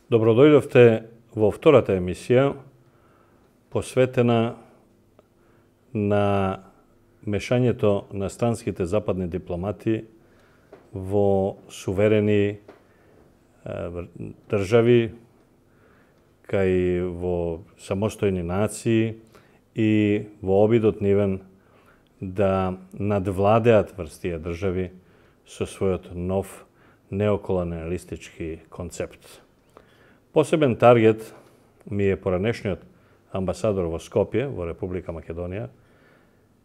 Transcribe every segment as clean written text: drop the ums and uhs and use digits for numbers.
Добродојдовте во втората емисија, посветена на мешањето на странските западни дипломати во суверени држави, кај во самостојни нации и во обидот нивен да надвладеат врз тие држави со својот нов неоколониалистички концепт. Посебен таргет ми е поранешниот амбасадор во Скопје, во Република Македонија,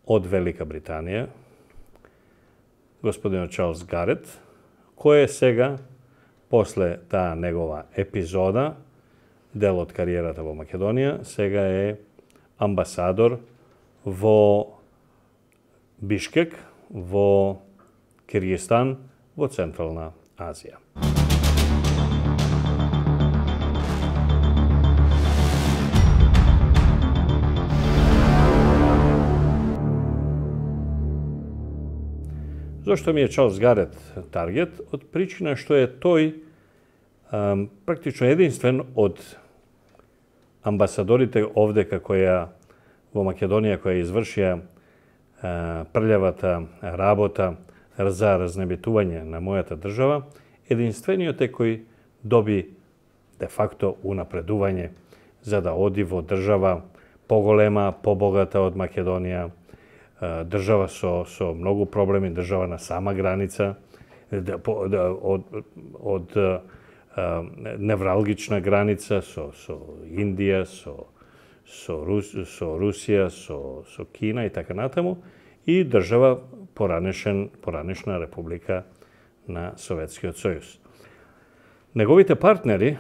од Велика Британија, господинот Чарлс Гарет, кој е сега, после таа негова епизода, дел од кариерата во Македонија, сега е амбасадор во Бишкек, во Киргистан, во Централна Азија. Зошто ми е Чарлс Гарет таргет? Од причина што е тој практично единствен од амбасадорите овде која во Македонија која извршија прљавата работа за разнебитување на мојата држава, единствениот е кој доби де факто унапредување за да оди во држава поголема, побогата од Македонија, држава со многу проблеми, држава на сама граница, од невралгична граница со Индија, со Русија, со Кина и така натаму, и држава поранешна република на Советскиот сојуз. Неговите партнери,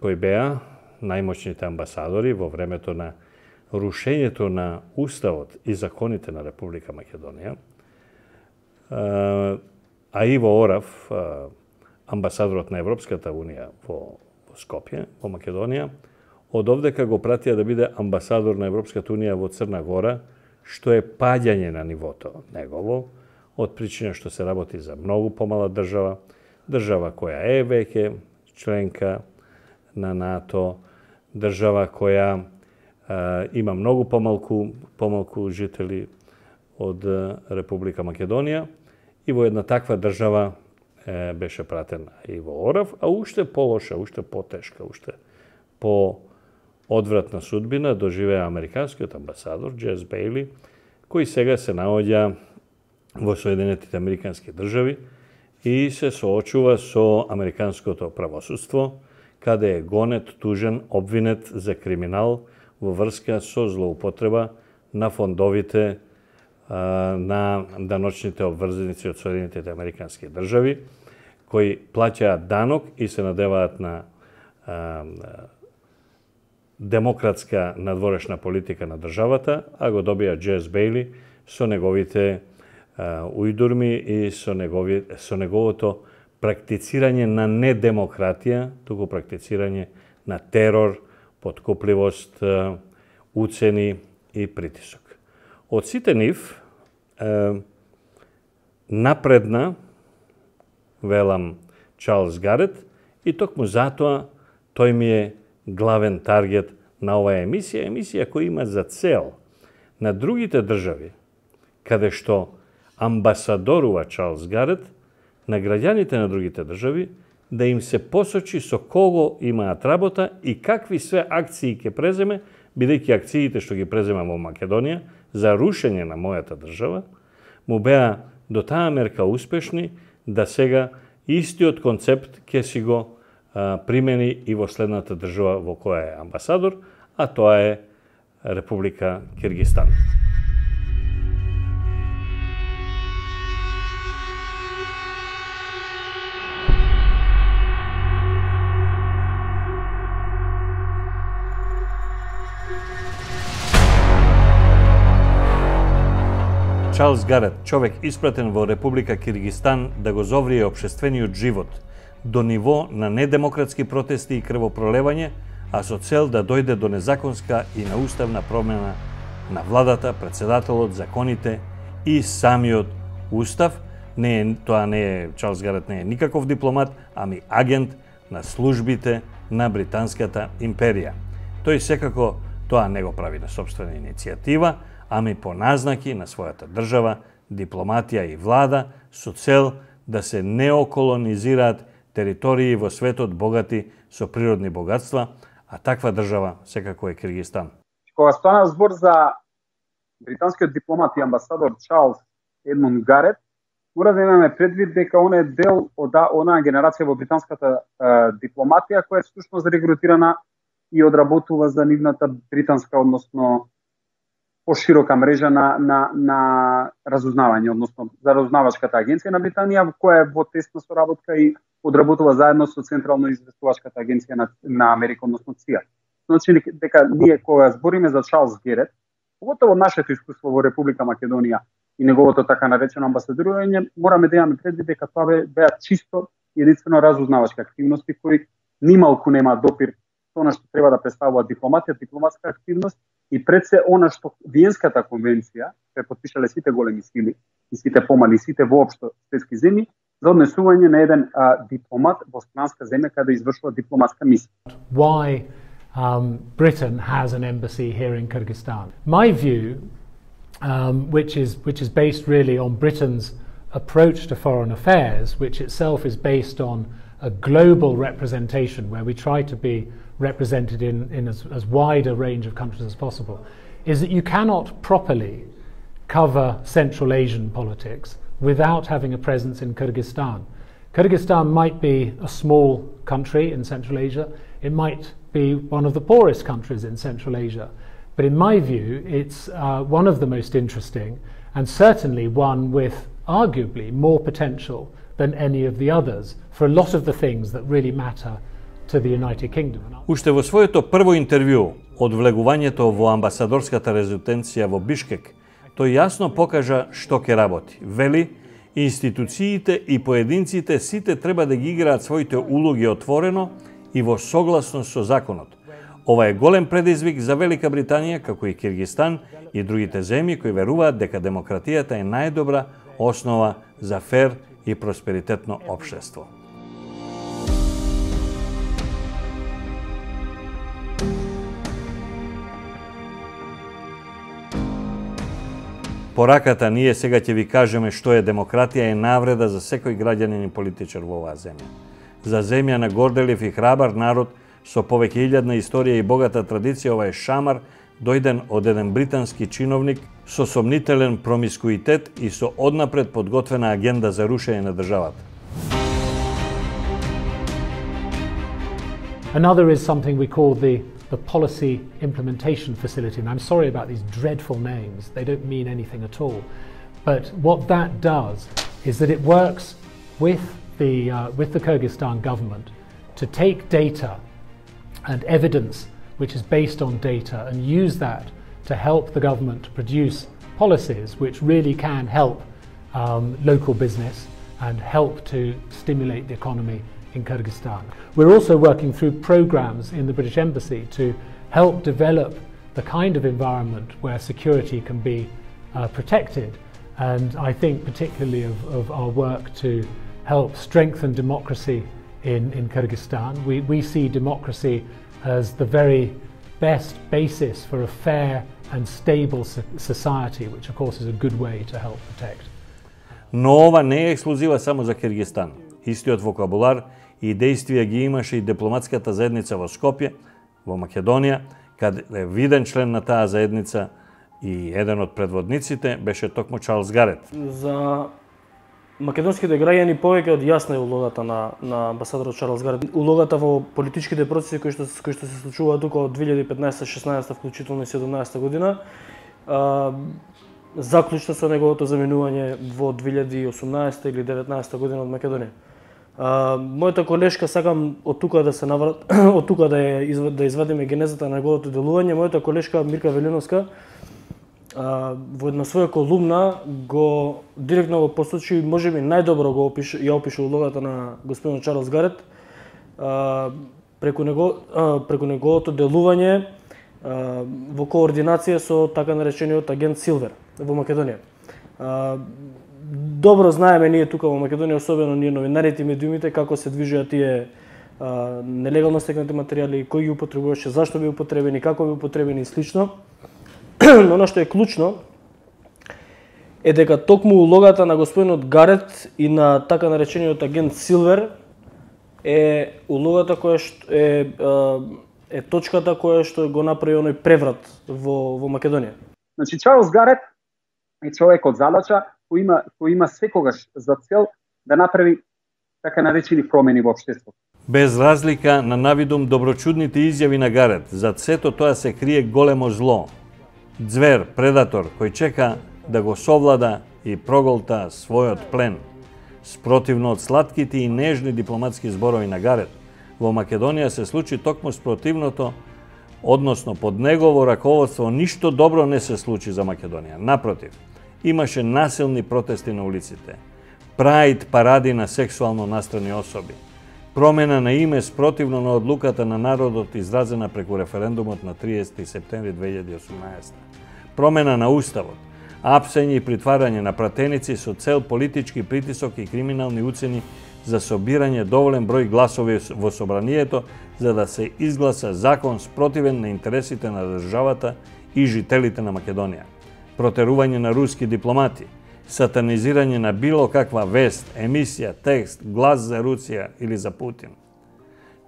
кои беа најмоćните амбасадори во времето на рушењето на Уставот и законите на Република Македонија, а Иво Орав, амбасадорот на Европската Унија во Скопје, во Македонија, од овдека го пратија да биде амбасадор на Европската Унија во Црна Гора, што е паѓање на нивото негово, од причина што се работи за многу помала држава, држава која е веќе членка на НАТО, држава која има многу помалку жители од Република Македонија, и во една таква држава беше пратен Иво Орав, а уште полоша, уште потешка, уште по-одвратна судбина доживеа американскиот амбасадор Джес Бејли, кој сега се наоѓа во Соединетите Американски држави и се соочува со американското правосудство, каде е гонет, тужен, обвинет за криминал во врска со злоупотреба на фондовите на даночните обврзаници од Соединетите Американски држави, кои плаќаат данок и се надеваат на демократска надворешна политика на државата, а го добија Джес Бејли со неговите ујдурми и со неговото практицирање на недемократија, туку практицирање на терор, подкупливост, уцени и притисок. Од сите нив, напредна, велам, Чарлс Гарет, и токму затоа тој ми е главен таргет на оваа емисија која има за цел на другите држави, каде што амбасадорува Чарлс Гарет, на граѓаните на другите држави, да им се посочи со кого имаат работа и какви све акции ќе преземе, бидејќи акциите што ги презема во Македонија за рушење на мојата држава, му беа до таа мерка успешни да сега истиот концепт ќе си го примени и во следната држава во која е амбасадор, а тоа е Република Киргистан. Чарлс Гарет, човек испратен во Република Киргистан да го зоврие општествениот живот до ниво на недемократски протести и крвопролевање, а со цел да дојде до незаконска и неуставна промена на владата, председателот, законите и самиот устав. Чарлс Гарет не е никаков дипломат, ами агент на службите на Британската империја. Тој секако тоа не го прави на сопствена иницијатива, ами по назнаки на својата држава, дипломатија и влада со цел да се неоколонизираат територии во светот богати со природни богатства, а таква држава секако е Киргизстан. Кога стана збор за британскиот дипломат и амбасадор Чарлс Едмунд Гарет, мора да имаме предвид дека он е дел од онаа генерација во британската дипломатија која е всушност регрутирана и одработува за нивната британска, односно поширока мрежа на разузнавање, односно за разузнавачката агенција на Британија, која е во тесна соработка и одработува заедно со Централно известувачката агенција на Америка, односно ЦИА. Значи дека ние кога збориме за Чарлс Гарет, поготово нашето искуство во Република Македонија и неговото така наречено амбасадорување, мораме да имаме предвид дека тоа беа чисто единствено разузнавачки активности кои нималку нема допир со она што треба да представува дипломатија, дипломатска активност и пред се она што Виенската конвенција се подпишале сите големи сили и сите помали, сите воопшто светски земји за однесување на еден дипломат во странска земја каде извршува дипломатска мисија. Why Britain has an embassy here in Kyrgyzstan? My view, which is based really on Britain's approach to foreign affairs, which itself is based on a global representation where we try to be represented in as wide a range of countries as possible, is that you cannot properly cover Central Asian politics without having a presence in Kyrgyzstan. Kyrgyzstan might be a small country in Central Asia, it might be one of the poorest countries in Central Asia, but in my view it's one of the most interesting and certainly one with arguably more potential than any of the others for a lot of the things that really matter to the United Kingdom. Уште во своето прво интервју од влегувањето во амбасадорската резиденција во Бишкек, тој јасно покажа што ќе работи. Вели, институциите и поединците сите треба да ги играат своите улоги отворено и во согласност со законот. Ова е голем предизвик за Велика Британија, како и Киргизстан и другите земји кои веруваат дека демократијата е најдобра основа за фер и просперитетно општество. Пораката ние сега ќе ви кажеме што е демократија е навреда за секој граѓанин и политичар во оваа земја. За земја на горделив и храбар народ со повеќе илјадна историја и богата традиција, ова е шамар дојден од еден британски чиновник со сомнителен промискуитет и со однапред подготвена агенда за рушење на државата. Another is something we call the Policy Implementation Facility, and I'm sorry about these dreadful names, they don't mean anything at all. But what that does is that it works with the Kyrgyzstan government to take data and evidence which is based on data and use that to help the government to produce policies which really can help local business and help to stimulate the economy in Kyrgyzstan. We're also working through programs in the British Embassy to help develop the kind of environment where security can be protected, and I think particularly of our work to help strengthen democracy in Kyrgyzstan. We see democracy as the very best basis for a fair and stable society, which of course is a good way to help protect. Но ова не е ексклузива само за Киргизстан. Истиот вокабулар и действија ги имаше и дипломатската заедница во Скопје, во Македонија, каде виден член на таа заедница и еден од предводниците беше токму Чарлс Гарет. За македонските граѓани повеќе од јасна е улогата на амбасадорот Чарлс Гарет. Улогата во политичките процеси кои што се случуваат тука од 2015-16 вклучително и 17 година, заклучно со неговото заменување во 2018 или 19 година од Македонија. Мојата колешка, сакам од тука да се од тука да извадиме генезата на неговото делување. Мојата колешка Мирка Велиновска во една своја колумна го директно го посочи, можеби најдобро ја опише улогата на господин Чарлс Гарет преку неговото делување во координација со така наречениот агент Силвер во Македонија. Добро знаеме ние тука во Македонија, особено ние новинарите и медиумите, како се движеа тие нелегално стекнати материјали, кој ги употребуваше, зашто би употребени, како би употребени и слично. Но она што е клучно е дека токму улогата на господинот Гарет и на така наречениот агент Силвер е улогата која што е точката која што го направи оној преврат во Македонија. Значи Чарлс Гарет е човек од задача кој има секогаш за цел да направи така наречени промени во општеството. Без разлика на навидум доброчудните изјави на Гарет, зад сето тоа се крие големо зло. Ѕвер, предатор, кој чека да го совлада и проголта својот плен. Спротивно од сладките и нежни дипломатски зборови на Гарет, во Македонија се случи токму спротивното, односно под негово раководство ништо добро не се случи за Македонија. Напротив, имаше насилни протести на улиците, праид паради на сексуално настрани особи, промена на име спротивно на одлуката на народот изразена преку референдумот на 30 септември 2018. Промена на уставот, апсење и притварање на пратеници со цел политички притисок и криминални уцени за собирање доволен број гласови во собранието за да се изгласа закон спротивен на интересите на државата и жителите на Македонија. Протерување на руски дипломати, сатанизирање на било каква вест, емисија, текст, глас за Русија или за Путин.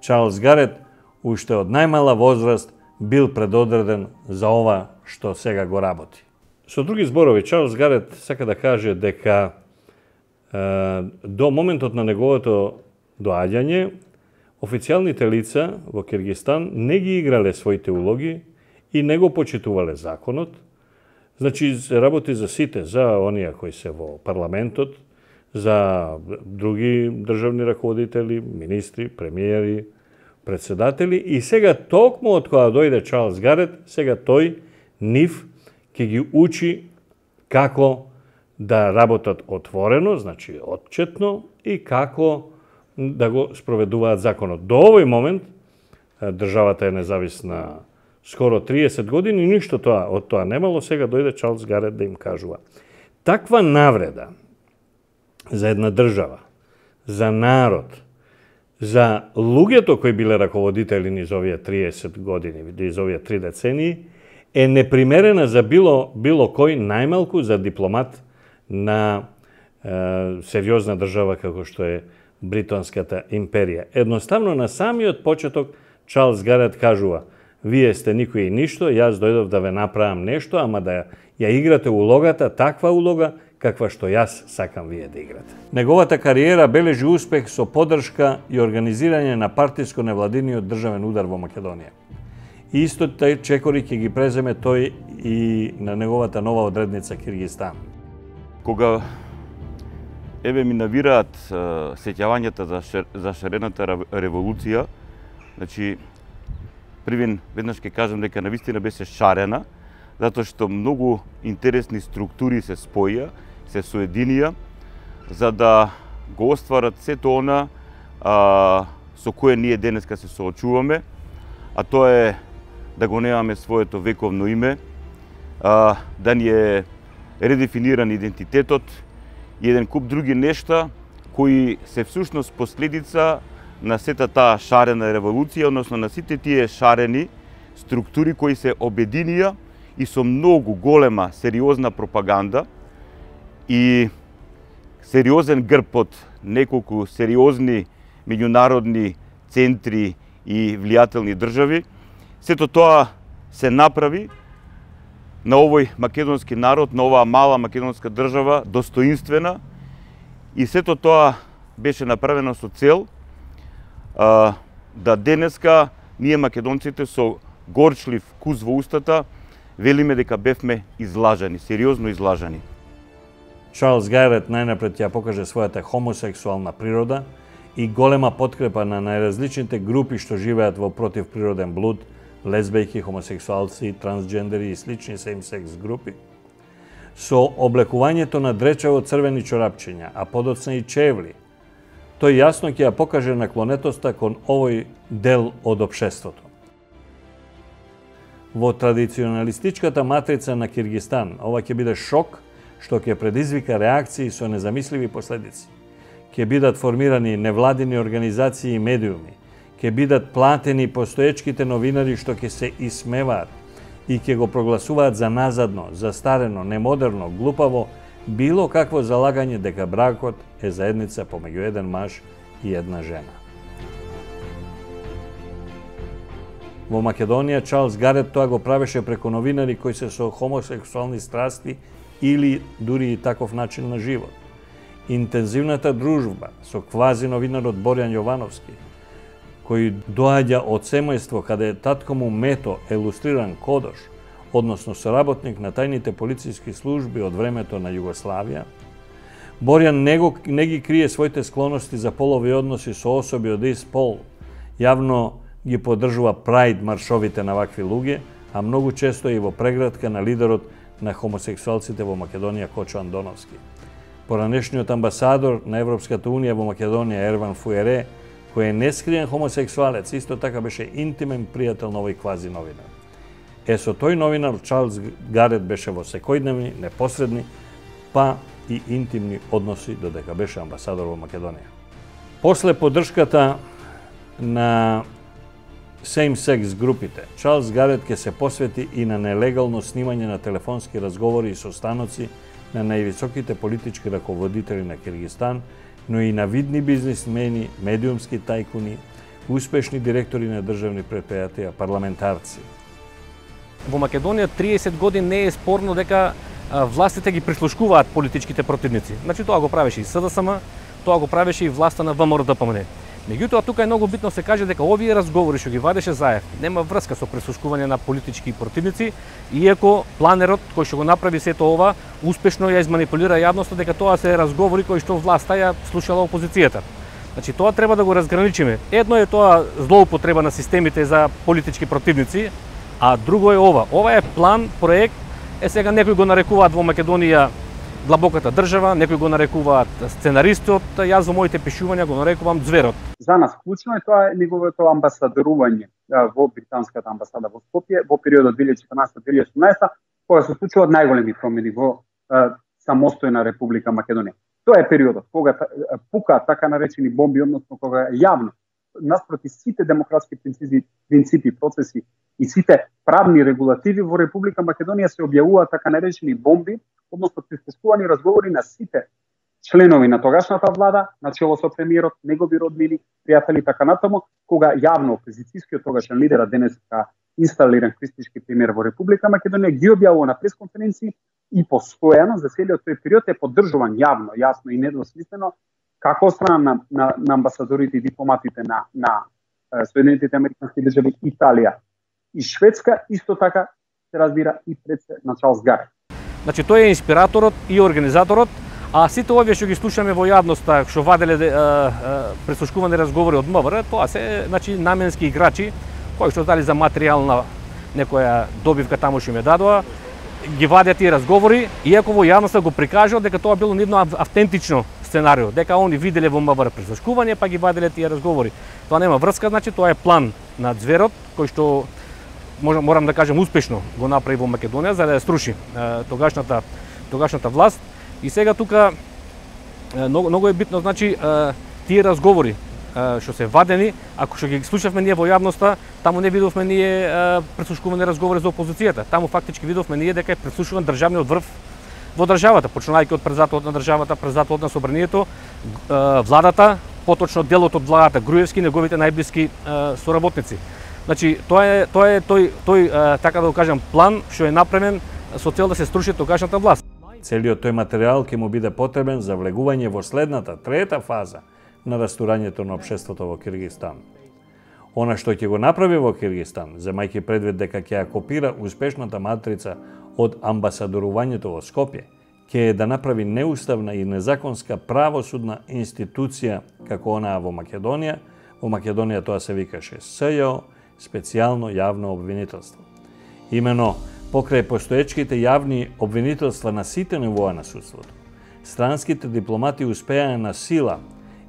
Чарлс Гарет уште од најмала возраст бил предодреден за ова што сега го работи. Со други зборови, Чарлс Гарет сака да каже дека до моментот на неговото доаѓање, официјалните лица во Киргистан не ги играле своите улоги и не го почитувале законот. Значи, работи за сите, за оние кои се во парламентот, за други државни раководители, министри, премиери, председатели. И сега, токму од кога дојде Чарлс Гарет, сега тој, нив, ќе ги учи како да работат отворено, значи отчетно, и како да го спроведуваат законот. До овој момент државата е независна скоро 30 години, ништо од тоа немало, сега дојде Чарлс Гарет да им кажува. Таква навреда за една држава, за народ, за луѓето кои биле раководители низ овие 30 години, низ овие 3 децении, е непримерена за било кој, најмалку за дипломат на сериозна држава како што е Британската империја. Едноставно на самиот почеток Чарлс Гарет кажува: вие сте никој и ништо, јас дојдов да ве направам нешто, ама да ја играте улогата, таква улога каква што јас сакам вие да играте. Неговата кариера бележи успех со поддршка и организирање на партиско-невладиниот државен удар во Македонија. И исто тај чекори ќе ги преземе тој и на неговата нова одредница Киргистан. Кога ми навираат сеќавањата за шарената револуција, значи веднаш ќе кажам дека навистина беше шарена, затоа што многу интересни структури се споја, се соединија, за да го остварат сето она со кое ние денеска се соочуваме, а тоа е да го немаме своето вековно име, да ни е редефиниран идентитетот и еден куп други нешта кои се всушност последица на сета таа шарена револуција, односно на сите тие шарени структури кои се обединија и со многу голема, сериозна пропаганда и сериозен грб од неколку сериозни меѓународни центри и влијателни држави, сето тоа се направи на овој македонски народ, на оваа мала македонска држава, достоинствена, и сето тоа беше направено со цел да денеска ние македонците со горчлив вкус во устата велиме дека бевме излажани, сериозно излажани. Чарлс Гарет најнапред ја покаже својата хомосексуална природа и голема подкрепа на најразличните групи што живеат во противприроден блуд, лесбејки, хомосексуалци, трансджендери и слични сейм-секс групи. Со облекувањето на дречево црвени чорапчиња, а подоцна и чевли, тој јасно ќе ја покаже наклонетоста кон овој дел од општеството. во традиционалистичката матрица на Киргистан. Ова ќе биде шок што ќе предизвика реакции со незамисливи последици. Ќе бидат формирани невладини организации и медиуми, ќе бидат платени постоечките новинари што ќе се исмеваат и ќе го прогласуваат за назадно, застарено, немодерно, глупаво, било какво залагање дека бракот е заедница помеѓу еден маж и една жена. Во Македонија Чарлс Гарет тоа го правеше преку новинари кои се со хомосексуални страсти или дури и таков начин на живот. Интензивната дружба со квази новинарот Борјан Јовановски, кој доаѓа од семејство каде татко му Мето е илустриран кодош, односно соработник на тајните полициски служби од времето на Југославија. Борјан не ги крие своите склоности за полови односи со особи од ист пол. Јавно ги поддржува прајд маршовите на вакви луѓе, а многу често и во преградка на лидерот на хомосексуалците во Македонија Кочо Андоновски. Поранешниот амбасадор на Европската унија во Македонија Ерван Фуере, кој е нескриен хомосексуалец, исто така беше интимен пријател на овој квази новинар. Со тој новинар Чарлс Гарет беше во секојдневни, непосредни, па и интимни односи додека беше амбасадор во Македонија. После поддршката на same-sex групите, Чарлс Гарет ќе се посвети и на нелегално снимање на телефонски разговори и состаноци на највисоките политички раководители на Киргистан, но и на видни бизнисмени, медиумски тајкуни, успешни директори на државни предпријатија, парламентарци. Во Македонија 30 години не е спорно дека властите ги прислушкуваат политичките противници. Значи тоа го правеше и СДСМ, тоа го правеше и власта на ВМРО-ДПМН. Меѓутоа тука е многу битно се каже дека овие разговори што ги вадеше Заев нема врска со прислушкување на политички противници, иако планерот кој што го направи сето ова успешно ја изманипулира јавноста дека тоа се разговори кои што власта ја слушала опозицијата. Значи тоа треба да го разграничиме. Едно е тоа злоупотреба на системите за политички противници, а друго е ова. Ова е план, проект. Сега некои го нарекуваат во Македонија длабоката држава, некои го нарекуваат сценаристот, јас во моите пишувања го нарекувам ѕверот. За нас клучно е тоа неговото амбасадорување во британската амбасада во Скопје во периодот 2014-2018, кога се случуваат најголеми промени во самостојна Република Македонија. Тоа е периодот кога пука така наречени бомби, односно кога јавно наспроти сите демократски принципи, процеси и сите правни регулативи во Република Македонија се објавуваат така наречени бомби, односно прислушкувани разговори на сите членови на тогашната влада, начело со премиерот, негови роднини, пријатели така натаму, кога јавно опозицијскиот тогашен лидер, денеска инсталиран кристички премиер во Република Македонија, ги објавува на пресконференции и постојано за целиот тој период е поддржуван јавно, јасно и недвосмислено како од страна на амбасадорите и дипломатите на Соединетите Американски држави, Италија и Шведска, исто така се разбира и пред на Чарлс Гарет. Значи тој е инспираторот и организаторот, а сите овие што ги слушаме во јавноста, што ваделе прислушкувани разговори од МВР, тоа се наменски играчи кои што дали за материјална некоја добивка таму што им дадоа, ги вадат тие разговори, иако во јавноста го прикажуваат дека тоа било нивно автентично сценарио, дека они виделе во МВР прислушкување, па ги ваделе тие разговори. Тоа нема врска, значи тоа е план на ѕверот кој што морам да кажем успешно го направи во Македонија за да ја струши тогашната власт. И сега тука многу е битно, значи тие разговори што се вадени, ако што ги слушавме ние во јавноста, таму не видовме ние прислушкувани разговори за опозицијата. Таму фактички видовме ние дека е прислушуван државниот врв во државата, почнувајќи од председателот на државата, председателот на собранието, владата, поточно делот од владата, Груевски, неговите најблиски соработници. Значи тоа е тој така да го кажам план што е направен со цел да се струши тогашната власт. Целиот тој материјал ќе му биде потребен за влегување во следната, трета фаза на растурањето на општеството во Киргистан. Она што ќе го направи во Киргистан, земајќи предвид дека ќе ја копира успешната матрица од амбасадорувањето во Скопје, ќе е да направи неуставна и незаконска правосудна институција како онаа во Македонија. Во Македонија тоа се викаше СЈО, специјално јавно обвинителство. Имено покрај постоечките јавни обвинителства на сите нивоа на судството, странските дипломати успеа на сила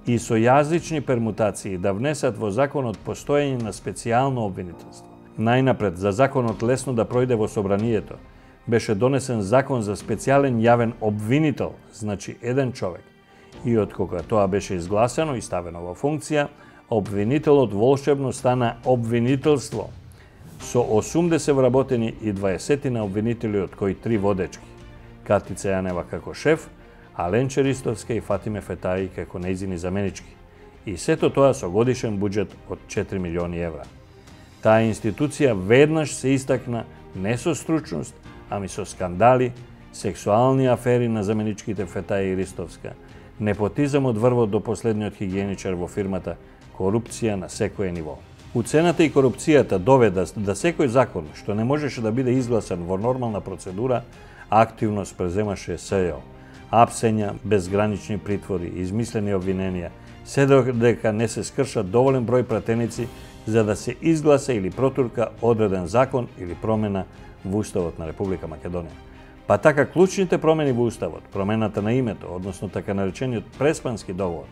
и со јазични пермутации да внесат во законот постоење на специјално обвинителство. Најнапред, за законот лесно да пројде во собранието, беше донесен закон за специјален јавен обвинител, значи еден човек. И откога тоа беше изгласено и ставено во функција, обвинителот волшебно стана обвинителство, со 80 вработени и 20 на обвинители, од кои 3 водечки. Катица Јанева како шеф, а Ленче Ристовска и Фатиме Фетаи како нејзини заменички. И сето тоа со годишен буџет од 4 милиони евра. Таа институција веднаш се истакна не со стручност, ами со скандали, сексуални афери на заменичките Фетаи и Ристовска, непотизам од врвот до последниот хигиеничар во фирмата, корупција на секое ниво. Уцената и корупцијата доведа да секој закон што не можеше да биде изгласан во нормална процедура, активно спреземаше СЈО. Апсења, безгранични притвори, измислени обвиненија, се додека не се скршат доволен број пратеници за да се изгласа или протурка одреден закон или промена во Уставот на Република Македонија. Па така клучните промени во Уставот, промената на името, односно така наречениот Преспански договор,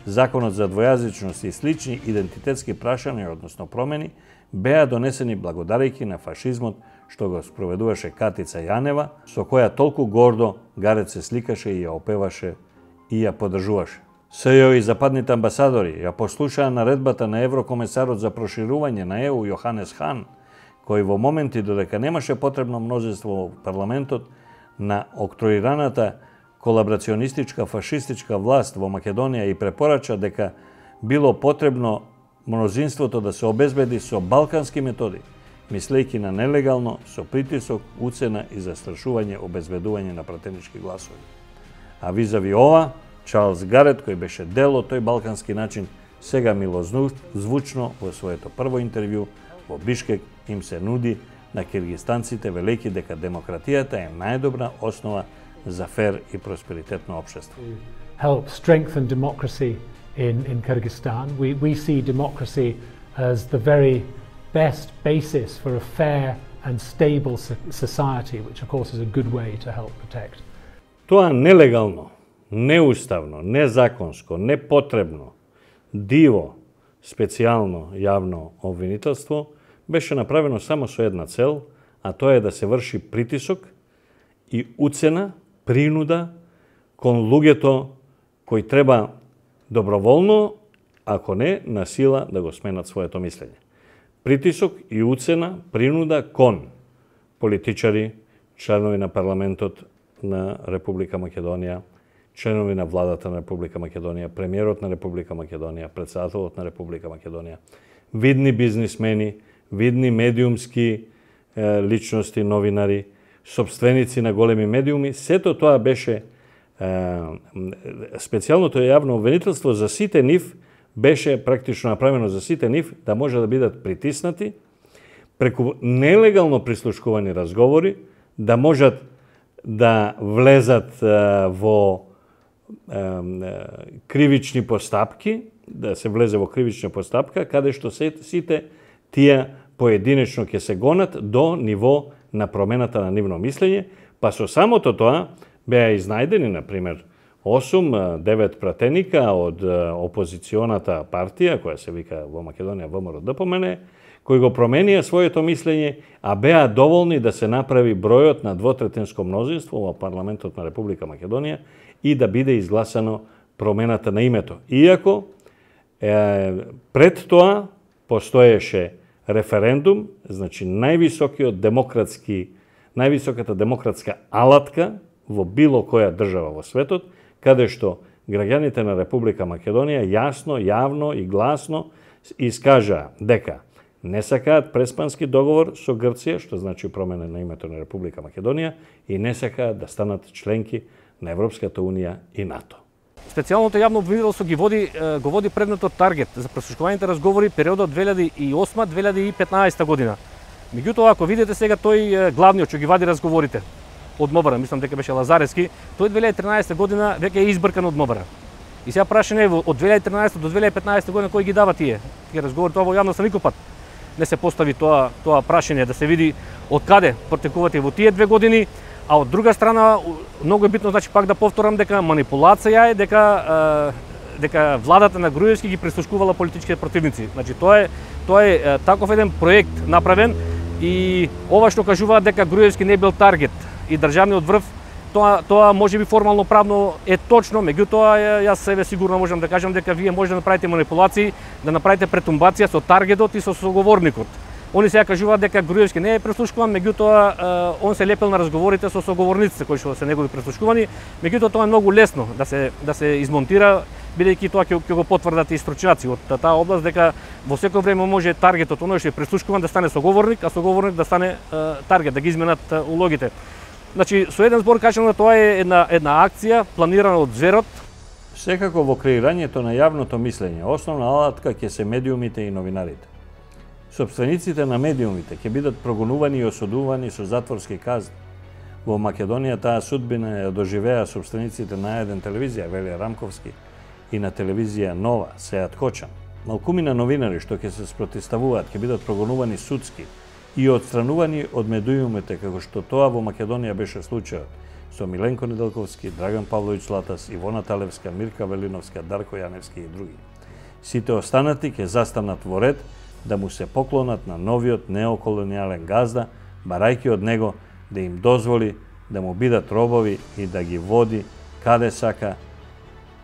законот за двојазичност и слични идентитетски прашања, односно промени, беа донесени благодарејќи на фашизмот што го спроведуваше Катица Јанева, со која толку гордо Гарет се сликаше и ја опеваше и ја поддржуваше. СЈО и западните амбасадори ја послушаа наредбата на еврокомесарот за проширување на ЕУ Јоханес Хан, кој во моменти додека немаше потребно мнозинство во парламентот на октроираната колаборационистичка фашистичка власт во Македонија и препорача дека било потребно мнозинството да се обезбеди со балкански методи, мислејќи на нелегално, со притисок, уцена и застрашување обезбедување на пратенички гласови. А визави ова, Чарлс Гарет, кој беше дел од тој балкански начин, сега милозвучно во своето прво интервју во Бишкек им се нуди на киргистанците, велејќи дека демократијата е најдобра основа за фер и просперитетно општество. Help strengthen democracy in Kyrgyzstan. We see democracy as the very best basis for a fair and stable society, which of course is a good way to help protect. Тоа нелегално, неуставно, незаконско, непотребно, диво, специјално јавно обвинителство беше направено само со една цел, а тоа е да се врши притисок и уцена, принуда кон луѓето кои треба доброволно, ако не, на сила да го сменат своето мислење. Притисок и уцена, принуда кон политичари, членови на парламентот на Република Македонија, членови на владата на Република Македонија, премиерот на Република Македонија, претседателот на Република Македонија, видни бизнисмени, видни медиумски личности, новинари, собственици на големи медиуми, сето тоа беше специјалното јавно обвинителство за сите нив, беше практично направено за сите нив да може да бидат притиснати преку нелегално прислушкувани разговори, да можат да влезат во кривични постапки, да се влезе во кривична постапка, каде што сите тие поединечно ќе се гонат до ниво на промената на нивно мислење, па со самото тоа беа изнајдени, например, 8-9 пратеника од опозиционата партија, која се вика во Македонија ВМРО-ДПМН, кои го променија своето мислење, а беа доволни да се направи бројот на двотретинско мнозинство во парламентот на Република Македонија и да биде изгласано промената на името. Иако пред тоа постоеше референдум, значи највисоката демократска алатка во било која држава во светот, каде што граѓаните на Република Македонија јасно, јавно и гласно искажаа дека не сакаат Преспански договор со Грција, што значи промена на името на Република Македонија, и не сакаат да станат членки на Европската Унија и НАТО. Специјалното јавно обвинителство го води предметот таргет за преслушкуваните разговори периодот 2008-2015 година. Меѓутоа, ако видите сега тој главниот што ги вади разговорите од МОБР, мислам дека беше Лазарески, тој 2013 година веќе е избркан од МОБР. И сега прашање е од 2013 до 2015 година кој ги дава тие разговори, тоа во јавноста никој пат не се постави тоа прашање да се види од каде протекувате во тие 2 години. А од друга страна, многу е битно, значи, пак да повторам дека манипулација е дека владата на Груевски ги прислушкувала политичките противници. Значи, тоа тоа е таков еден проект направен и ова што кажуваат дека Груевски не бил таргет и државниот врв, тоа можеби формално правно е точно, меѓутоа јас себе сигурно можам да кажам дека вие може да направите манипулации, да направите претумбација со таргетот и со соговорникот. Они сега кажуваат дека Груевски не е преслушкуван, меѓутоа он се лепел на разговорите со соговорниците кои што се негови преслушкувани, меѓутоа тоа е многу лесно да се измонтира, бидејќи тоа ќе го потврдат и стручњаци од таа област дека во секој време може таргетот оној што е преслушкуван да стане соговорник, а соговорник да стане таргет, да ги изменат улогите. Значи, со еден збор кажам да тоа е една акција планирана од зверот. Секако во креирањето на јавното мислење, основна алатка ќе се медиумите и новинарите. Сопствениците на медиумите ќе бидат прогонувани и осудувани со затворски казни. Во Македонија таа судбина ја доживеа сопствениците на еден телевизија, Велија Рамковски, и на телевизија Нова, Сеат Хочан. Малкумина новинари што ќе се спротивставуваат ќе бидат прогонувани судски и отстранувани од медиумите, како што тоа во Македонија беше случајот со Миленко Неделковски, Драган Павловиќ Златас, Ивона Талевска, Мирка Велиновска, Дарко Јаневски и други. Сите останати ќе застанат во ред да му се поклонат на новиот неоколонијален газда, барајќи од него да им дозволи да му бидат робови и да ги води каде сака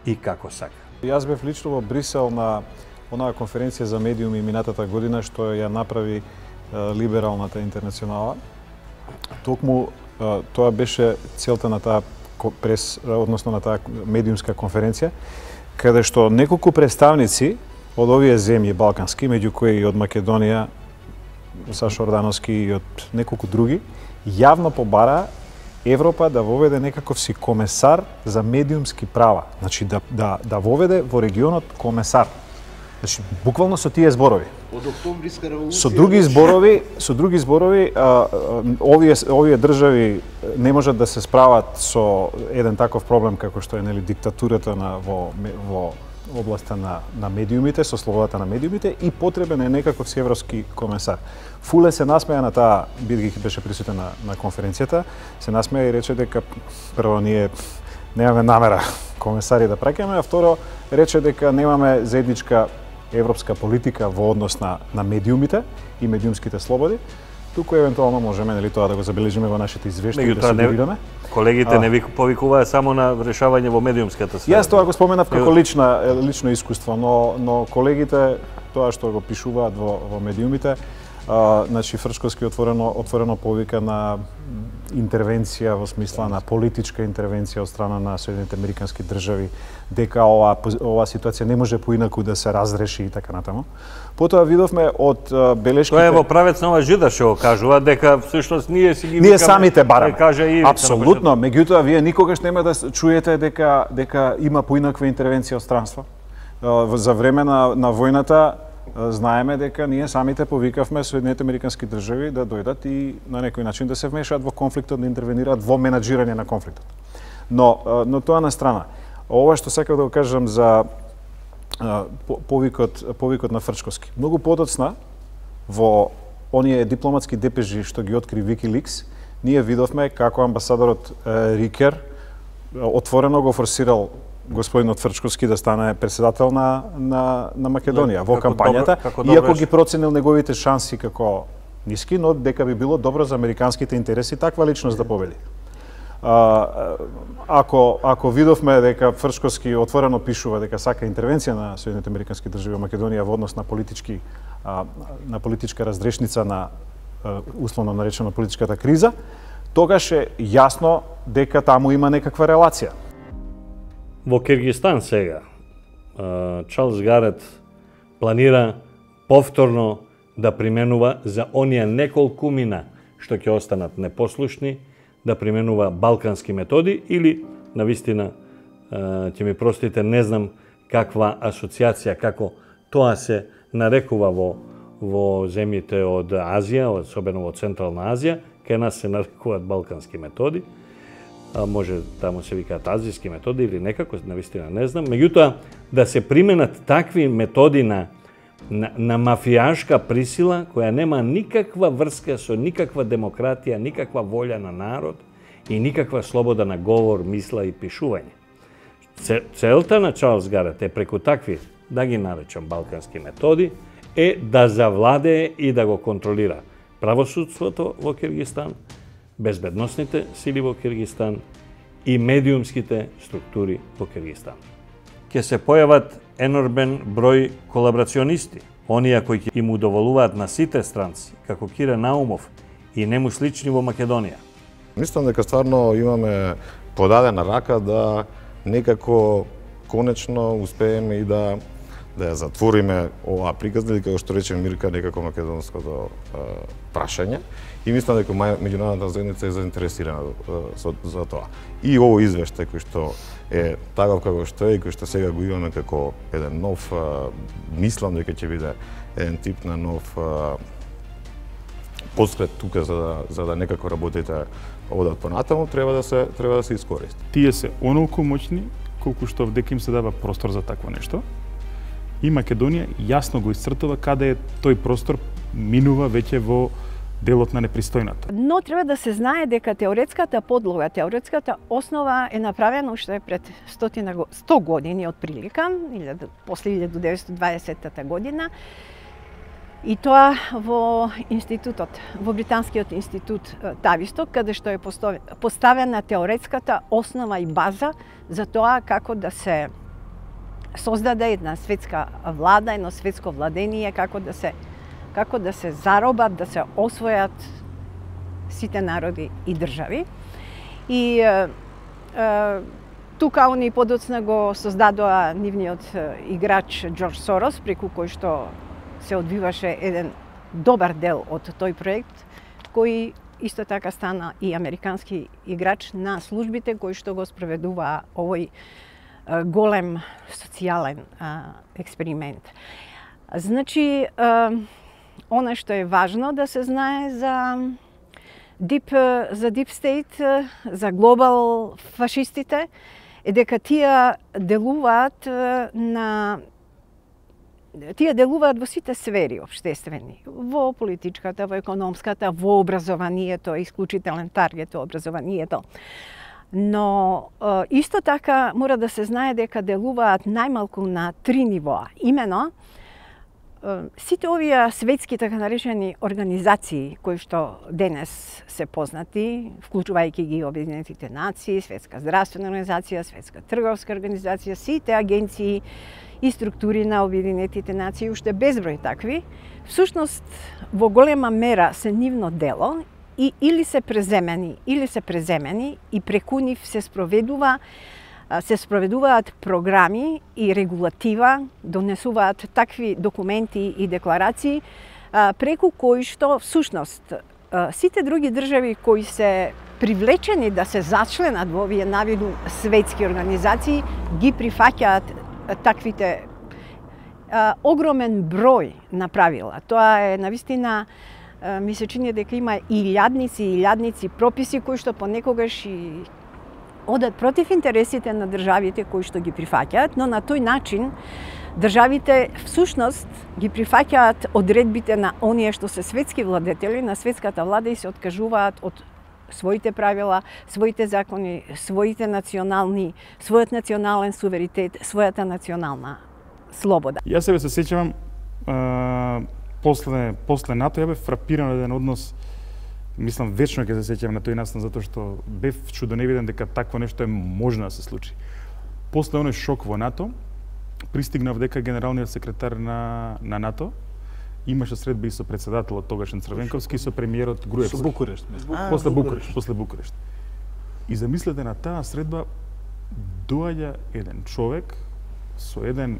и како сака. Јас бев лично во Брисел на онаа конференција за медиуми минатата година што ја направи Либералната интернационала. Токму тоа беше целта на таа односно на таа медиумска конференција, каде што неколку представници од овие земји балкански, меѓу кои и од Македонија, Сашо Ордановски и од неколку други, јавно побара Европа да воведе некаков си комесар за медиумски права. Значи да воведе во регионот комесар. Значи буквално со тие зборови. Од октомвриска револуција. Со други зборови, овие држави не можат да се справат со еден таков проблем како што е диктатурата во областа на медиумите, со слободата на медиумите и потребен е некаков си европски комесар. Фуле се насмеја на таа, бидејќи беше присутен на конференцијата, се насмеја и рече дека прво ние немаме намера комесари да праќаме, а второ рече дека немаме заедничка европска политика во однос на медиумите и медиумските слободи. Туку евентуално можеме тоа да го забележиме во нашите извештаи да сугерираме. Колегите не повикуваа само на решавање во медиумската сфера. Јас тоа го споменав како лично искуство, но колегите тоа што го пишуваат во медиумите, значи Фрчковски отворено повика на интервенција во смисла на политичка интервенција од страна на Соединените американски држави, дека ова ситуација не може поинаку да се разреши и така натаму. Потоа видовме од белешките... Тоа е во правец на ова жида што кажува дека всушност ние си ги ние самите бараме. Да апсолутно, меѓутоа вие никогаш нема да чуете дека има поинаква интервенција од странство. За време на војната знаеме дека ние самите повикавме Соединените американски држави да дојдат и на некој начин да се вмешаат во конфликтот, да интервенираат во менаџирање на конфликтот. Но тоа на страна. Ова што сакав да го кажам за повикот на Фрчковски. Многу подоцна во оние дипломатски депежи што ги откри WikiLeaks, ние видовме како амбасадорот Рикер отворено го форсирал господинот Фрчковски да стане председател на Македонија во кампањата, иако ги проценил неговите шанси како ниски, но дека би било добро за американските интереси таква личност да победи. Ако видовме дека Фрчковски отворено пишува дека сака интервенција на Соединените американски држави во Македонија во однос на политичка разрешница на условно наречено политичката криза, тогаш е јасно дека таму има некаква релација. Во Киргистан сега, Чарлс Гарет планира повторно да применува за оние неколкумина што ќе останат непослушни, да применува балкански методи или, навистина, ќе ми простите, не знам каква асоциација, како тоа се нарекува во земјите од Азија, особено во Централна Азија, кај нас се нарекуваат балкански методи, може таму се викаат азијски методи или некако, навистина не знам. Меѓутоа, да се применат такви методи на мафијашка присила, која нема никаква врска со никаква демократија, никаква волја на народ и никаква слобода на говор, мисла и пишување. Целта на Чарлс Гарет е преку такви, да ги наречам балкански методи, е да завладее и да го контролира правосудството во Киргизстан, безбедносните сили во Киргизстан и медиумските структури во Киргизстан. Ќе се појават енормен број колаборационисти, оние кои ќе им удоволуваат на сите странци, како Кира Наумов и нему слични во Македонија. Мислам дека стварно имаме подадена рака да некако конечно успееме и да ја затвориме оваа приказна или како што рече Мирка некако македонското прашање и мислам дека меѓународната заедница е заинтересирана за тоа. И овој извештај кој што е таков како што е и кој што сега го имаме како еден нов, мислам дека ќе биде еден тип на нов поскрет тука за да некако работите одат понатаму, треба да се искористи. Тие се онолку моćни колку што дека им се дава простор за такво нешто. И Македонија јасно го исцртува каде е тој простор минува веќе во делот на непристојната. Но треба да се знае дека теоретската подлога, теоретската основа е направена уште пред 100 години отприлика, после 1920 година. И тоа во институтот, во британскиот институт Тависток, каде што е поставена теоретската основа и база за тоа како да се создаде една светска влада, едно светско владение, како да се заробат, да се освојат сите народи и држави. И тука они подоцна го создадоа нивниот играч Џорџ Сорос, преку кој што се одвиваше еден добар дел од тој проект, кој исто така стана и американски играч на службите кои што го спроведуваа овој голем социјален експеримент. Значи, она што е важно да се знае за Deep State, за глобал фашистите, е дека тие делуваат во сите сфери општествени, во политичката, во економската, во образованието, исклучителен таргет во образованието. Но исто така мора да се знае дека делуваат најмалку на 3 нивоа. Имено, сите овие светски така наречени организации кои што денес се познати, вклучувајќи ги Обединетите нации, Светска здравствена организација, Светска трговска организација, сите агенции и структури на Обединетите нации, уште безброј такви, всушност во голема мера се нивно дело и или се преземени и преку нив се спроведуваат програми и регулатива, донесуваат такви документи и декларации преку кои што всушност сите други држави кои се привлечени да се зачленат во овие навиду светски организации ги прифаќаат таквите огромен број на правила. Тоа е навистина, ми се чини дека има илјадници прописи кои што понекогаш и одат против интересите на државите кои што ги прифаќаат, но на тој начин државите всушност ги прифаќаат одредбите на оние што се светски владетели, на светската влада и се откажуваат од своите правила, своите закони, својот национален суверенитет, својата национална слобода. Јас себе се сеќавам после НАТО ја бев фрапиран еден однос, мислам вечно ќе се сеќавам на тој настан затоа што бев чудоневиден дека такво нешто е можно да се случи. После оној шок во НАТО, пристигнав дека генералниот секретар на НАТО имаше средби и со председателот тогашен Црвенковски и со премиерот Груевски. Со Букурешт. После Букурешт. И замислете на таа средба доаѓа еден човек со еден,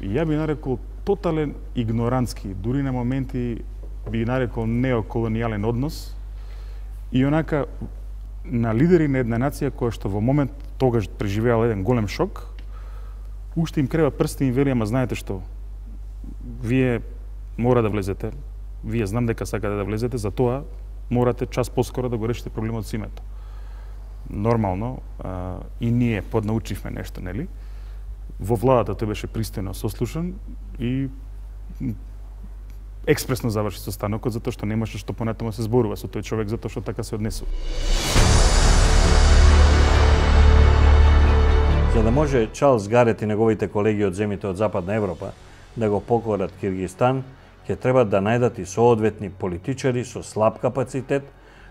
ја би нарекол тотален игнорантски, дури на моменти би нарекол неоколонијален однос и онака на лидери на една нација која што во момент тогаш преживеала еден голем шок, уште им крева прсти и им вели, ама знаете што, вие мора да влезете, вие знам дека сакате да влезете, за тоа морате час поскоро да го решите проблемот со името. Нормално, и ние поднаучивме нешто, нели? Во владата тој беше пристојно сослушан и експресно заврши состанокот затоа што немаше што понатаму се зборува со тој човек затоа што така се однесува. За да може Чарлс Гарет и неговите колеги од земјите од Западна Европа да го покорат Киргизстан, ќе треба да најдат и соодветни политичари со слаб капацитет.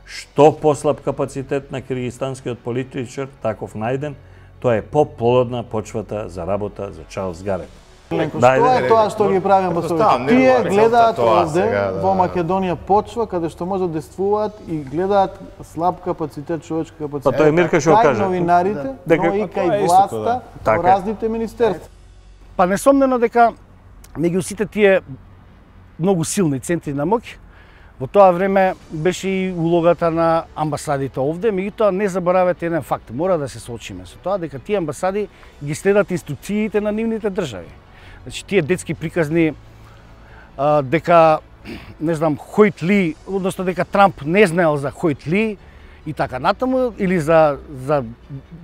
Што послаб капацитет на киргизстанскиот политичар, таков најден, тоа е поплодна почвата за работа за Чарлс Гарет. Тоа е тоа што ги прави амбасадорите. Тие гледаат овде во Македонија почва каде што може да действуваат и гледаат слаб капацитет, човечки капацитет. Па тоа е Мирка што каже. Кај новинарите, но и кај власта, во разните министерства. Па несомнено дека меѓу сите тие многу силни центри на моќ, во тоа време беше и улогата на амбасадите овде, меѓутоа не заборавете еден факт, мора да се соочиме со тоа дека тие амбасади ги следат инструкциите на нивните држави. Значи тие детски приказни дека не знам Хојт Ли, односно дека Трамп не знаел за Хојт Ли и така натаму, или за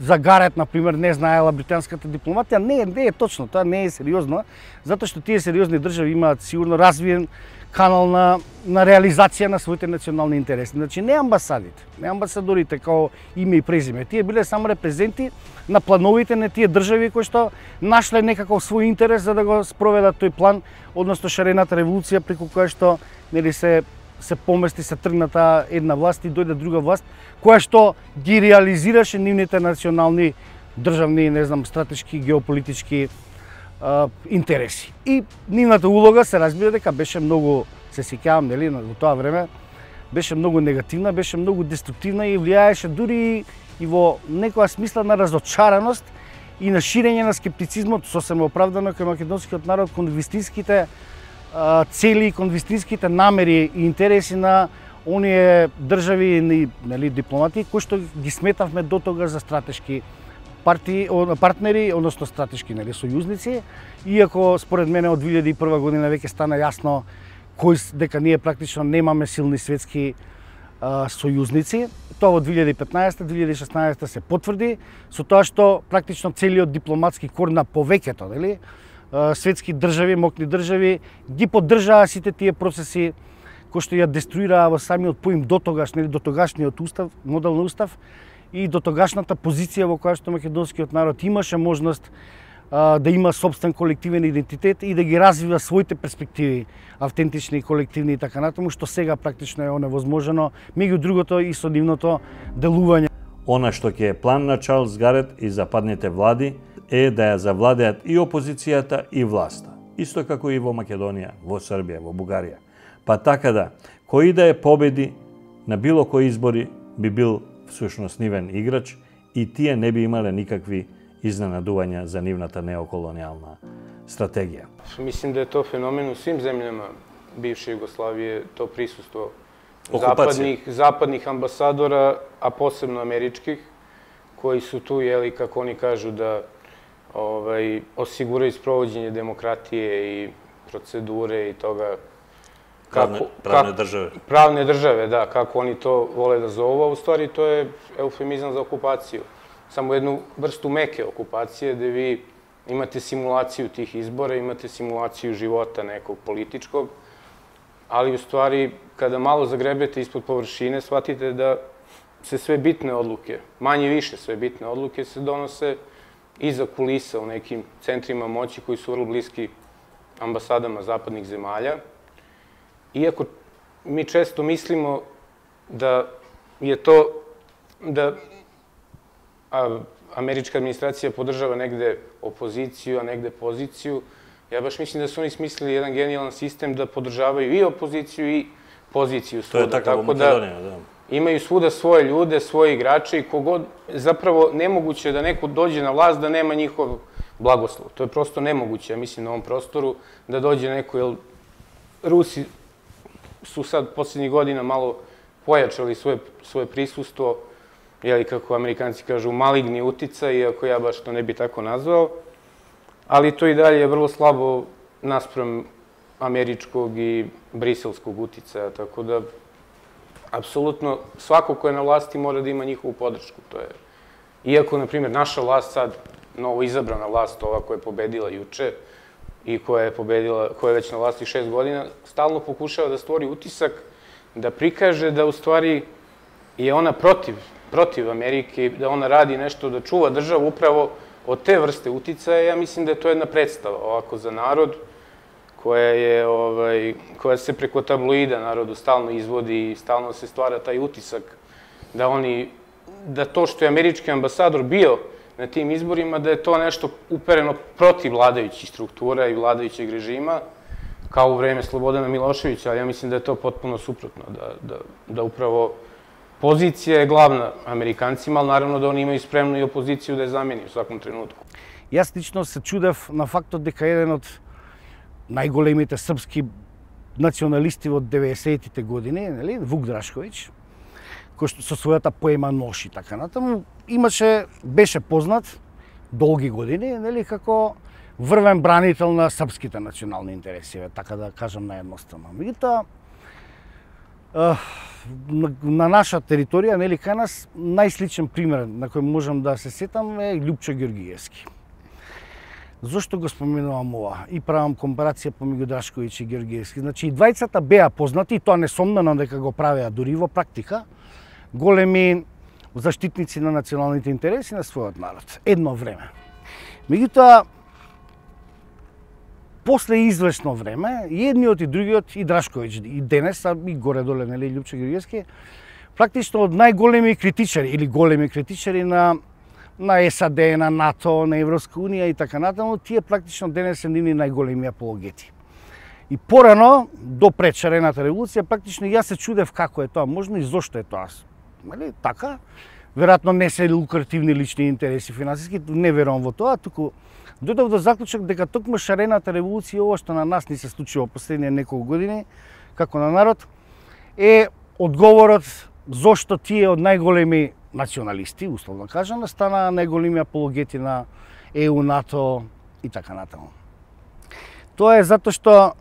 Гарет, например, не знаела британската дипломатија, не е точно, тоа не е сериозно, затоа што тие сериозни држави имаат сигурно развиен канал на реализација на своите национални интереси. Значи не амбасадите, не амбасадорите као име и презиме, тие биле само репрезенти на плановите на тие држави кои што нашле некаков свој интерес за да го спроведат тој план, односно шарената револуција преку која што нели се помести, се тргна таа една власт и дојде друга власт која што ги реализираше нивните национални државни, не знам, стратешки, геополитички интереси. И нивната улога се разбира дека беше многу, се сеќавам, нели, во тоа време, беше многу негативна, беше многу деструктивна и влијаеше дури и во некоја смисла на разочараност и на ширење на скептицизмот сосем оправдано кај македонскиот народ кон вистинските цели, кон вистинските намери и интереси на оние држави, нели, дипломати кои што ги сметавме до тогаш за стратешки партнери, односно стратешки, нели, сојузници, иако според мене од 2001 година веќе стана јасно дека ние практично немаме силни светски сојузници. Тоа во 2015-2016 се потврди со тоа што практично целиот дипломатски кор на повеќето, нели, светски држави, мокни држави ги поддржаа сите тие процеси кои што ја деструираа во самиот поим дотогаш, нели, дотогашниот устав, модел на устав и дотогашната позиција во која што македонскиот народ имаше можност да има собствен колективен идентитет и да ги развива своите перспективи, автентични, колективни и така натаму, што сега практично е оневозможено, меѓу другото и со нивното делување. Она што ќе е план на Чарлс Гарет и западните влади е да ја завладеат и опозицијата и власта, исто како и во Македонија, во Србија, во Бугарија. Па така да, кој да е победи на било кои избори би бил всушност нивен играч и тие не би имале никакви изненадувања за нивната неоколонијална стратегија. Мислим да е тоа феномен у свим земљама бивше Југославије, то присуство западних амбасадора, а посебно америчких, кои су ту, јели, како они кажу, да осигурају спровоđење демократије и процедуре и тога правне државе. Правне државе, да, како они то воле да зову, а у ствари то е еуфемизам за окупацију. Само едну врсту меке окупација, где ви имате симулацију тих избора, имате симулацију живота неког политичког, али у ствари, када мало загребете испод површине, сватите да се све битне одлуке, мање више све битне одлуке се доносе иза кулиса у неким центрима моći кои су врло блиски амбасадама западних земаља. Иако ми често мислимо да je to da američka administracija podržava negde opoziciju, a negde poziciju. Ja baš mislim da su oni smislili jedan genijalan sistem da podržavaju i opoziciju i poziciju svuda. To je tako u Makedoniji, da. Imaju svuda svoje ljude, svoje igrače i kogod, zapravo nemoguće je da neko dođe na vlast da nema njihov blagoslov. To je prosto nemoguće, ja mislim, na ovom prostoru da dođe neko, jer Rusi su sad posljednjih godina malo pojačali svoje prisustvo, jeli kako Amerikanci kažu, maligni uticaj, iako ja baš to ne bi tako nazvao, ali to i dalje je vrlo slabo naspram američkog i briselskog uticaja, tako da apsolutno svako ko je na vlasti mora da ima njihovu podršku. Iako, na primjer, naša vlast sad, novo izabrana vlast, ova koja je pobedila juče i koja je već na vlasti 6 godina, stalno pokušava da stvori utisak, da prikaže da u stvari je ona protiv Amerike, da ona radi nešto, da čuva državu upravo od te vrste uticaja. Ja mislim da je to jedna predstava ovako za narod koja se preko tabloida narodu stalno izvodi i stalno se stvara taj utisak da to što je američki ambasador bio na tim izborima, da je to nešto upereno protiv vladajućih struktura i vladajućeg režima, kao u vreme Slobodana Miloševića, ali ja mislim da je to potpuno suprotno, da upravo pozicija je glavna Amerikancima, ali naravno da oni imaju spremnu i opoziciju da je zameni u svakom trenutku. Јас лично се чудев на фактот дека еден од најголемите српски националисти во 90-тите години, нели, Вук Драшковиќ, кој што со својата поема Нож и така натаму, беше познат долги години, нели, како врвен бранител на српските национални интереси, така да кажам наедноставно. Меѓутоа, на наша територија, нели, кај нас, најсличен пример на кој можам да се сетам е Љупчо Ѓоргиевски. Зошто го споменувам ова? И правам компарација помеѓу Драшковиќ и Ѓоргиевски. Значи, и двајцата беа познати, и тоа несомнено дека го правеа дури во практика, големи заштитници на националните интереси на својот народ. Едно време. Меѓутоа, после известно време, и едниот и другиот, и Драшковиќ, и денес, а и горе-доле, нели, Љупчо Ѓоргиевски, практично од најголеми критичари, или големи критичари на САД, на НАТО, на Европска унија и така натаму, тие практично денес се нивни најголеми апологети. И порано, до пред шарената револуција, практично јас се чудев како е тоа можно и зошто е тоа. Нали, така? Веројатно не се лукративни лични интереси финансиски, не верувам во тоа, туку дојдов до заклучок дека токму шарената револуција, ова што на нас ни се случило последните неколку години, како на народ, е одговорот зошто тие од најголеми националисти, условно кажано, станаа најголеми апологети на ЕУ, НАТО и така натаму. Тоа е затоа што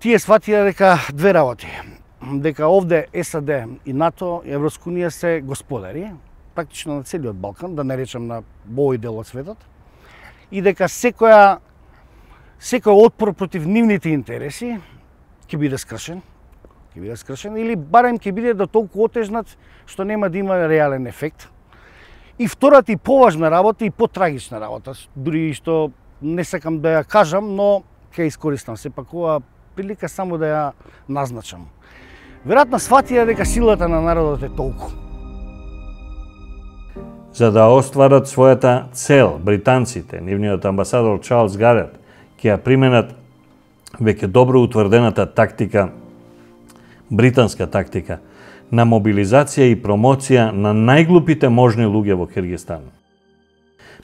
тие сватија дека две работи. Дека овде САД и НАТО и Европска унија се господари, практично на целиот Балкан, да не речем на овој дел од светот, и дека секој отпор против нивните интереси ќе биде скршен, или барем ќе биде до толку отежнат што нема да има реален ефект. И втората и поважна работа и потрагична работа, дури што не сакам да ја кажам, но ќе искористам сепак оваа прилика само да ја назначам. Веројатно сватија дека силата на народот е толку. За да остварат својата цел, британците, нивниот амбасадор Чарлс Гарет, ќе ја применат веќе добро утврдената тактика, британска тактика, на мобилизација и промоција на најглупите можни луѓе во Киргизстан.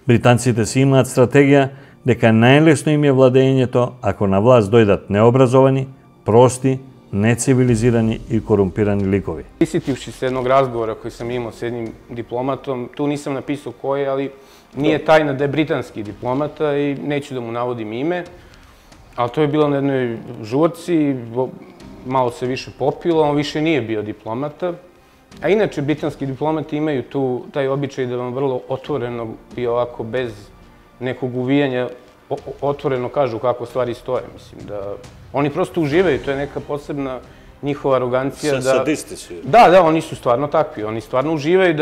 Британците си имаат стратегија дека најлесно им е владењето ако на власт дојдат необразовани, прости, нецивилизирани и корумпирани ликови. Присетивши се едnog разговора кој сам имao с едним дипломатом, ту нисам написao кој, али nije tajna da je britanski diplomata i neću da mu navodim ime, ali to je bilo na jednoj žurci, malo se više popilo, on više nije bio diplomata. A inače, britanski diplomati imaju taj običaj da vam vrlo otvoreno i ovako bez nekog uvijanja otvoreno kažu kako stvari stoje. Mislim da oni prosto uživaju, to je neka posebna njihova arogancija. Sadisti su. Da, oni su stvarno takvi. Oni stvarno uživaju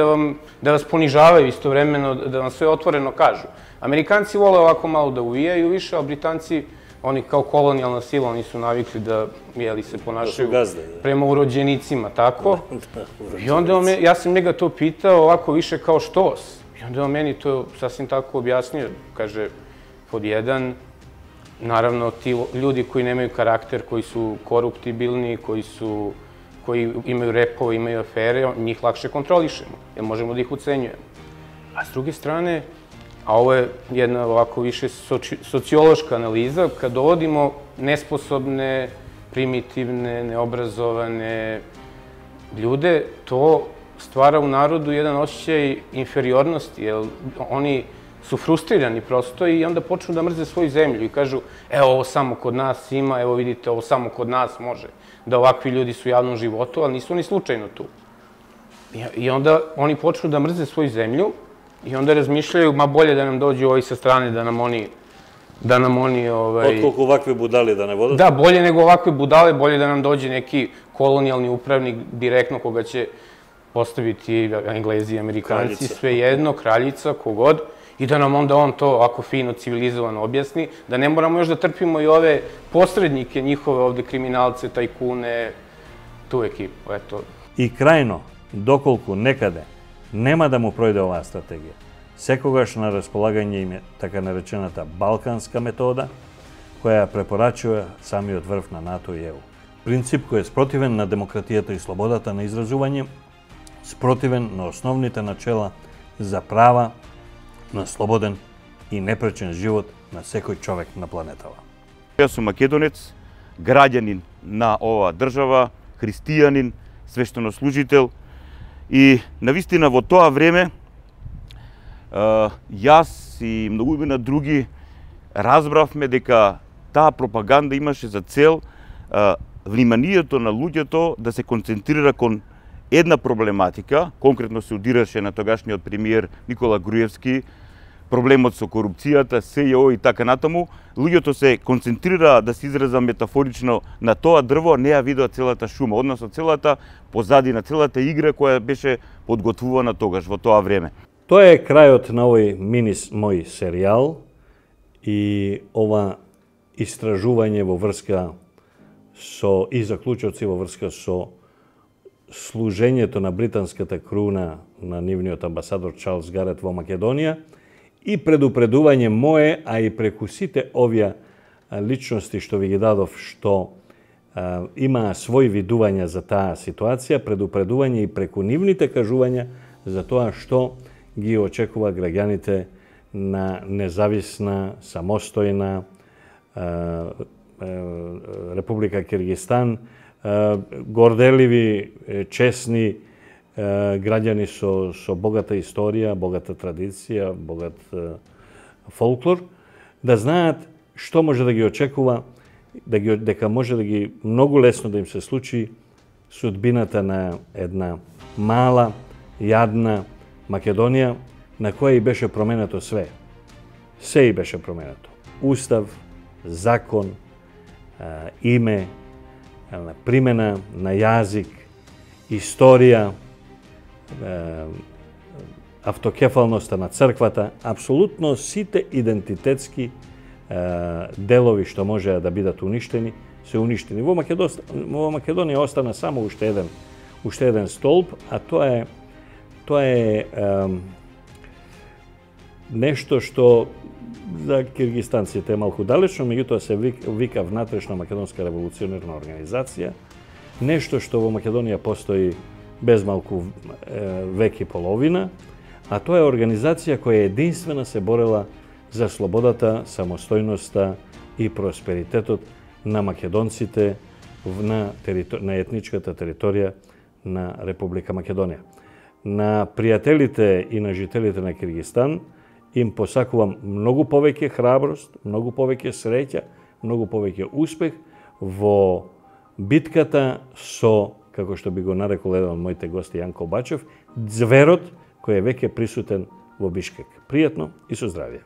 da vas ponižavaju istovremeno, da vam sve otvoreno kažu. Amerikanci vole ovako malo da uvijaju više, a Britanci, oni kao kolonijalna sila, oni su navikli da se ponašaju prema urođenicima, tako. I onda ja sam njega to pitao ovako više kao štos. I onda on meni to sasvim tako objasnio. Kaže, pod jedan, naravno, ti ljudi koji nemaju karakter, koji su koruptibilni, koji imaju repove, imaju afere, njih lakše kontrolišemo, jer možemo da ih ucenjujemo. A s druge strane, a ovo je jedna ovako više sociološka analiza, kad dovodimo nesposobne, primitivne, neobrazovane ljude, to stvara u narodu jedan osjećaj inferiornosti, jer oni su frustrirani prosto i onda počnu da mrze svoju zemlju i kažu evo ovo samo kod nas ima, evo vidite ovo samo kod nas može, da ovakvi ljudi su u javnom životu, ali nisu oni slučajno tu. I onda oni počnu da mrze svoju zemlju i onda razmišljaju, ma bolje da nam dođu ovi sa strane, da nam oni... Otkoliko ovakve budale da ne vodate? Da, bolje nego ovakve budale, bolje da nam dođe neki kolonijalni upravnik direktno koga će postaviti Englezi, Amerikanci, sve jedno, kraljica, kogod. I da nam onda on to ovako fino, civilizovano objasni, da ne moramo još da trpimo i ove posrednike njihove ovde, kriminalce, tajkune, tu ekipu, eto. И крајно, доколку некаде нема да му пројде оваа стратегија, секогаш на располагање им е така наречената балканска метода, која препорачува самиот врв на НАТО и ЕУ. Принцип кој е спротивен на демократијата и слободата на изразување, спротивен на основните начела за права на слободен и непречен живот на секој човек на планетава. Јас сум македонец, граѓанин на оваа држава, христијанин, свештенослужител и навистина во тоа време јас и многуина други разбравме дека таа пропаганда имаше за цел вниманието на луѓето да се концентрира кон една проблематика, конкретно се удираше на тогашниот премиер Никола Груевски, проблемот со корупцијата, СЈО и така натаму, луѓето се концентрираа, да се изразам метафорично, на тоа дрво, не ја видоа целата шума, односно целата позадина, целата игра која беше подготвувана тогаш во тоа време. Тоа е крајот на овој мој серијал и ова истражување во врска со и заклучоци во врска со служењето на британската круна на нивниот амбасадор Чарлс Гарет во Македонија и предупредување мое, а и преку сите овие личности што ви ги дадов, што имаа своји видувања за таа ситуација, предупредување и преку нивните кажувања за тоа што ги очекува граѓаните на независна, самостојна Република Киргистан, горделиви, чесни граѓани со богата историја, богата традиција, богат фолклор, да знаат што може да ги очекува, дека може да ги многу лесно да им се случи судбината на една мала, јадна Македонија, на која и беше променето све. Се и беше променето. Устав, закон, име, примена на јазик, историја, автокефалноста на црквата, апсолутно сите идентитетски делови што можеа да бидат уништени, се уништени. Во Македонија остана само уште еден столб, а тоа е нешто што за киргистанците е малку далечно, меѓутоа се вика внатрешна македонска револуционерна организација, нешто што во Македонија постои без малку век и половина, а тоа е организација која единствена се борела за слободата, самостојноста и просперитетот на македонците на етничката територија на Република Македонија. На пријателите и на жителите на Киргистан им посакувам многу повеќе храброст, многу повеќе среќа, многу повеќе успех во битката со, како што би го нарекол еден од моите гости Јанко Бачев, зверот кој е веќе присутен во Бишкек. Пријатно и со здравје.